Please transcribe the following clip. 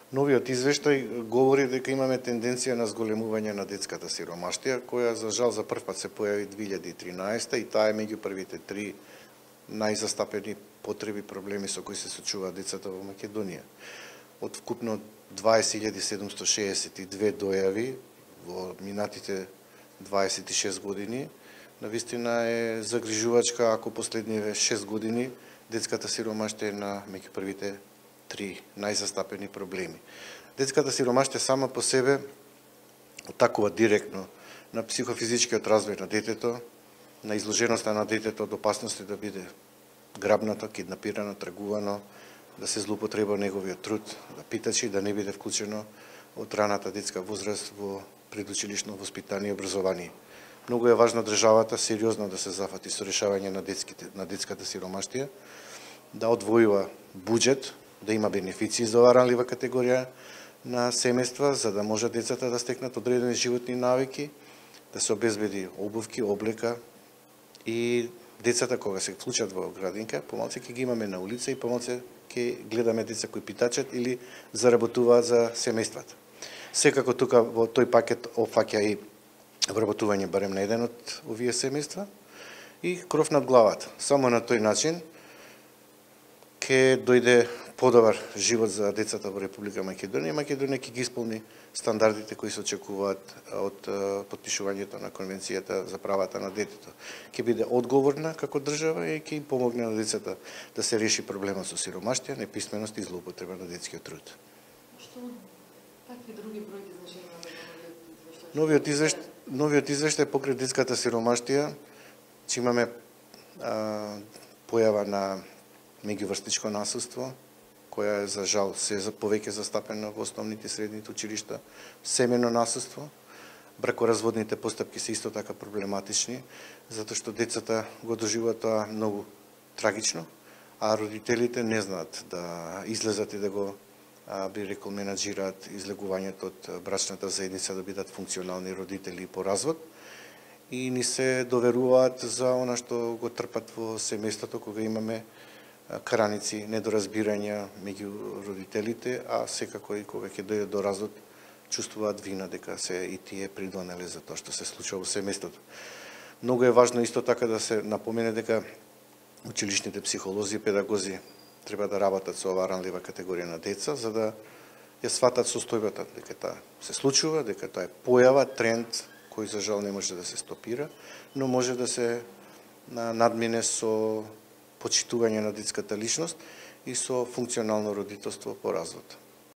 Новиот извештај говори дека имаме тенденција на зголемување на детската сиромаштија, која за жал за прв пат се појави 2013 и таа е меѓу првите три најзастапени потреби проблеми со кои се соочуваат децата во Македонија. Од вкупно 20.762 дојави во минатите 26 години, навистина е загрижувачка ако последниве 6 години детската сиромаштија е на меѓу првите три најзастапени проблеми. Детската сиромаштија сама по себе отакува директно на психофизичкиот развој на детето, на изложеноста на детето од опасности да биде грабнато, киднапирано, тргувано, да се злоупотреба неговиот труд, да питачи, да не биде вклучено од раната детска возраст во предучилишно воспитание и образование. Многу е важно државата сериозно да се зафати со решавање на детската сиромаштија, да одвојува буџет, да има бенефиции за оваа ранлива категорија на семејства, за да може децата да стекнат одредени животни навики, да се обезбеди обувки, облека и децата кога се вклучат во градинка, помалце ќе ги имаме на улица и помалце ќе гледаме деца кои питачат или заработуваат за семејствата. Секако тука во тој пакет опфаќа и вработување барем на еден од овие семејства и кров над главата. Само на тој начин ќе дојде подобар живот за децата во Република Македонија. Македонија ќе ги исполни стандардите кои се очекуваат од потпишувањето на Конвенцијата за правата на детето. Ќе биде одговорна како држава и ќе им помогне на децата да се реши проблемот со сиромаштија, неписменост и злоупотреба на детскиот труд. Што какви други бројки значења Новиот извештај покрај детската сиромаштија, че имаме појава на меѓуврстничко насилство, која е за жал се повеќе застапена во основните и средните училишта, семејно насилство, бракоразводните постапки се исто така проблематични, затоа што децата го доживуваат тоа многу трагично, а родителите не знаат да излезат и да го би рекол менаџираат излегувањето од брачната заедница да бидат функционални родители по развод и ни се доверуваат за она што го трпат во семејството кога имаме краници, недоразбирања меѓу родителите, а секако и кога ќе дојде до развод, чувствуваат вина дека се и тие придонеле за тоа што се случува во семејството. Многу е важно исто така да се напомене дека училишните психолози и педагози треба да работат со оваа ранлива категорија на деца, за да ја сватат состојбата, дека таа се случува, дека тоа е појава, тренд, кој за жал не може да се стопира, но може да се надмине со почитување на детската личност и со функционално родителство по развод.